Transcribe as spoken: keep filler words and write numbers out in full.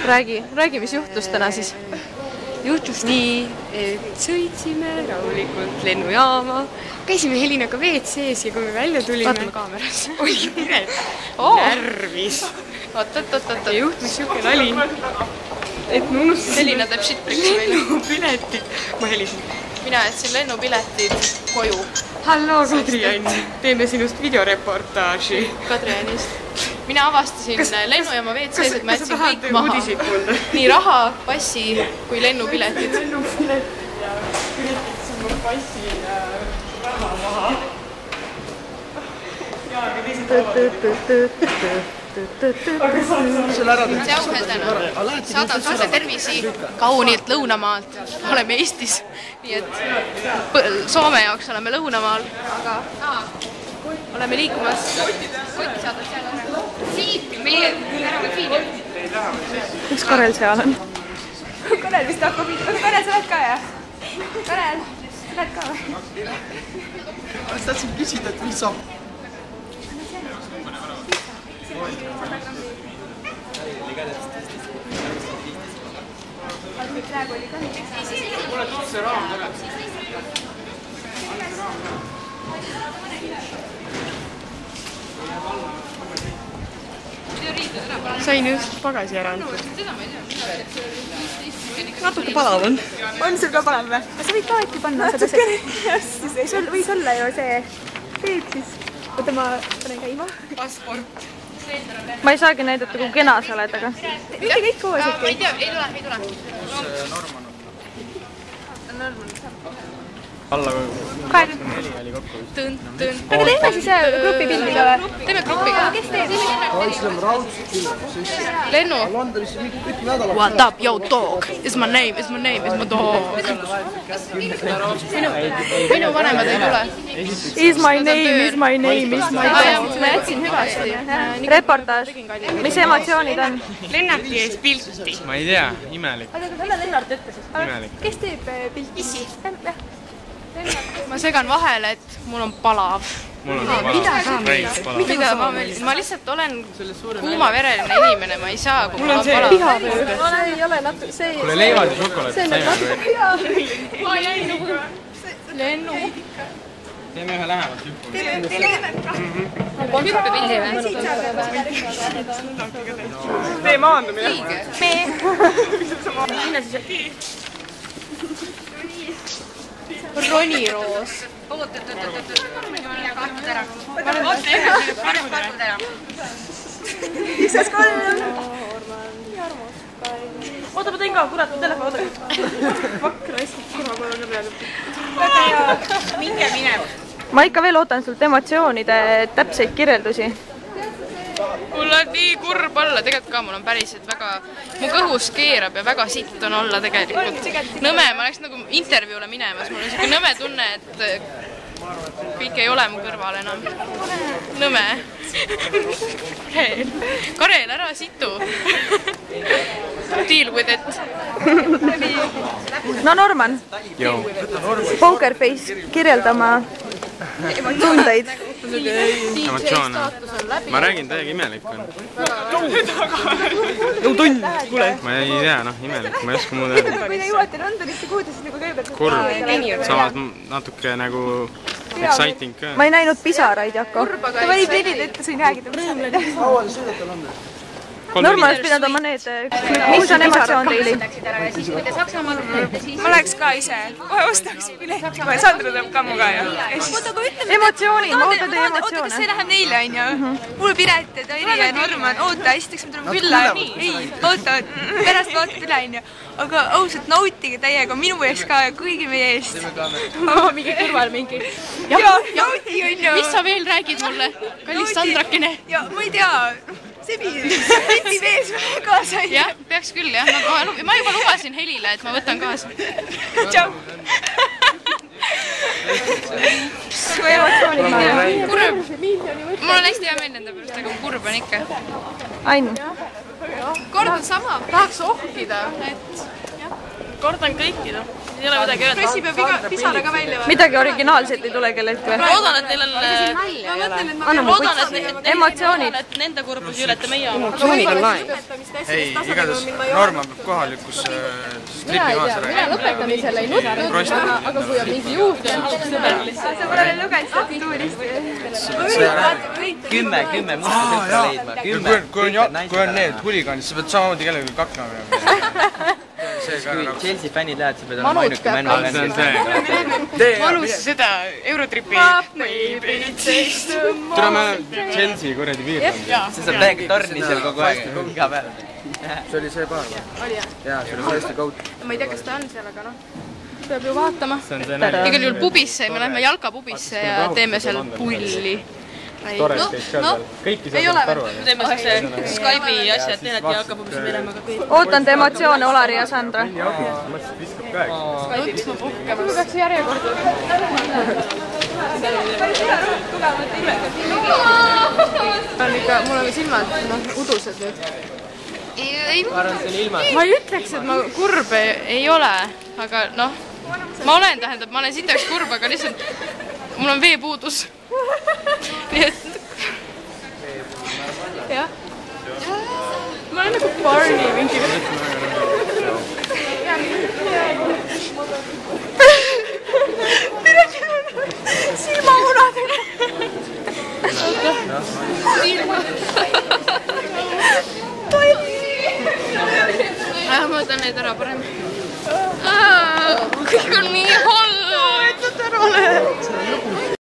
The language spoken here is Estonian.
räägi, räägi, mis juhtus täna siis? Juhtus nii, et sõitsime rahulikult lennujaama, käisime Helinaga W C-s ja kui me välja tulime... Vaatame kaameras. Oi, piret, oh. närvis. Oot, oot, oot, oot. Ja juhtus siuke nali, et ma unustasin... Helina teeb shitbricks meile. Lennupiletid. Ma helisin. Mina jätsin lennupiletid koju. Hallo, Kadri-Ann. Teeme sinust videoreportaaži. Kadri-Annist. Mina avastasin kas, lennujaama W C-s, et ma jätsin kõik maha. Nii raha, passi kui lennupiletid. Lennupiletid ja üritasin ma passi ja raha maha. Ja, aga teised avaldavad. Aga saad ära teha. Tšau, Hedena. Saadan sulle tervisi kaunilt Lõunamaalt. Oleme Eestis. Nii et Soome jaoks oleme Lõunamaal. Aga oleme liikumas. Kotti saadad seal ära. Siit, meie tänavad siin. Üks Karel seal on. Karel vist hakkab. Karel, sa lähed ka, jah? Karel, sa lähed ka või? Ma tahtsin küsida, et mis saab? Praegu oli ka nii. Mulle tuleb see raam tuleb. Sain just pagasi ära antud. Natuke palav on. On sul ka palav või? Sa võid ka äkki panna seda see. Sul võis olla ju see teed siis. Oota, ma panen käima. Passport. Ma ei saagi näidata, kui kena sa oled, aga... Mitte kõik koos äkki? Ma ei tea, ei tule, ei tule. Norman on. Norman. Alla Kael. neli oli kokku. Tõn, tõn. Aga teeme siis grupi pildiga või? Teeme grupiga. Kes teeb? Islami raudselt küll. Lennu. Londonis kõik nädalad. What up, yo dog? Is my name, is my name, is my dog. Minu, minu vanemad ei tule. Is my name, is my name, is my dog. Ma jätsin hüvasti. Reportaaž. Mis emotsioonid on? Lennarti ees pilti. Ma ei tea, imelik. Aga kelle Lennart ütles? Imelik. Kes teeb pilti? Issi. Ma segan vahele, et mul on palav. Mul on palav. Reis palav. Mida ma, ma lihtsalt olen kuumavereline inimene, ma ei saa, kui mul on palav. See ei ole natuke, see ei... Kuule, leivad ja šokolaad saime. Ma jäin nagu... Lennu. Teeme ühe lähemalt hüppu. Teeme lähemalt ka. Hüppepildi või? Tee maandumine. Me. Minna siis... Roniroos. Oot, oot, oot, oot, oot. Kartud ära. Oota, ühe, kartud ära. Isas kolm. Nii armas. Oota, ma tõin ka, kurat, telefon, oota. Vakra, hästi kurva kohe on peale. Väga hea. Minge minev. Ma ikka veel ootan sult emotsioonide täpseid kirjeldusi. Mul on nii kurb olla, tegelikult ka mul on päriselt väga, mu kõhus keerab ja väga sitt on olla tegelikult. Nõme, ma oleks nagu intervjuule minemas, mul on siuke nõme tunne, et kõik ei ole mu kõrval enam. Nõme. Karel, ära situ. Deal with it. No Norman, Pokerface kirjeldama tundeid. Emotsioone. Ma räägin, täiega imelik on. Jõu tund, kuule. Ma ei tea, noh, imelik, ma ei oska muud öelda. Kui te jõuate Londonisse, kuhu te siis nagu kõigepealt... Kurb, samas natuke nagu exciting ka. Ma ei näinud pisaraid, Jako. Ta valib nelid ette, sa ei räägida pisaraid. Kaua te sõidate Londonisse? Norman oleks pidanud oma need... Mis on emotsioon teili? Ma läheks ka ise. Kohe ostaks pileti. Sandra tuleb ka muga ja... Emotsioonid, ma ootan teie emotsioone. Oota, kas see läheb neile, on ju? Mul Piret ja Tairi ja Norman. Oota, esiteks me tuleme külla. Ei, oota, pärast vaatad üle, on ju. Aga ausalt, nautige täiega minu eest ka ja kõigi meie eest. Mingi kõrval mingi. Jaa, nauti, on ju. Mis sa veel räägid mulle? Kallis Sandrakene. Ja ma ei tea. Sebi, Seti vees kaasa. Jah, peaks küll, jah. Ma juba lubasin Helile, et ma võtan kaasa. Tšau. Kui emotsioonid ma olen? Kurb. Mul on hästi hea meel nende pärast, aga kurb on ikka. Ainu. Kord on sama. Tahaks ohkida, et kordan kõikida. siin ei ole midagi öelda. Pressi peab iga pisara ka välja. Midagi originaalset ei tule kellelt või? Loodan, et neil on... Anna mu Loodan, kutsi. et Emotsioonid. nende kurbus ei ületa meie oma. emotsioonid on lae. ei, igatahes Norman peab kohalikus stripi maas räägima. lõpetamisel ei nutnud, aga kui on mingi juurde, siis sõber lihtsalt. sa pole lugenud statuurist. kümme, kümme musta tükke leidma. kui on, kui on need huligaanid, sa pead samamoodi kellegi kakna või? Kui Chelsea fännid lähevad, sa pead olema ainuke männu. See on see. Manus seda Eurotripi. Tule me Chelsea kuradi piirkond. See saab täiega torni seal kogu aeg, iga päev. see oli see paar või? jaa, see oli täiesti kaud. Ma ei tea, kas ta on seal, aga noh. Peab ju vaatama. See on see nalja. Igal juhul pubisse, me lähme jalkapubisse ja teeme seal pulli. Tores käis ka seal. Kõiki seal saab aru. Me teeme siukse Skype'i asja, et teine jalka pubisse minema ka kõik. ootan te emotsioone, Olari ja Sandra. Mõtlesin, viskab ka äkki. Mul peaks järjekord. Mul on silmad udused nüüd. Ma ei ütleks, et ma kurb ei ole, aga noh, ma olen, tähendab, ma olen sitaks kurb, aga lihtsalt mul on veepuudus. Nii et... jah. Ma olen nagu Barney mingi... silmamunadega. Ma võtan neid ära parem. Kõik on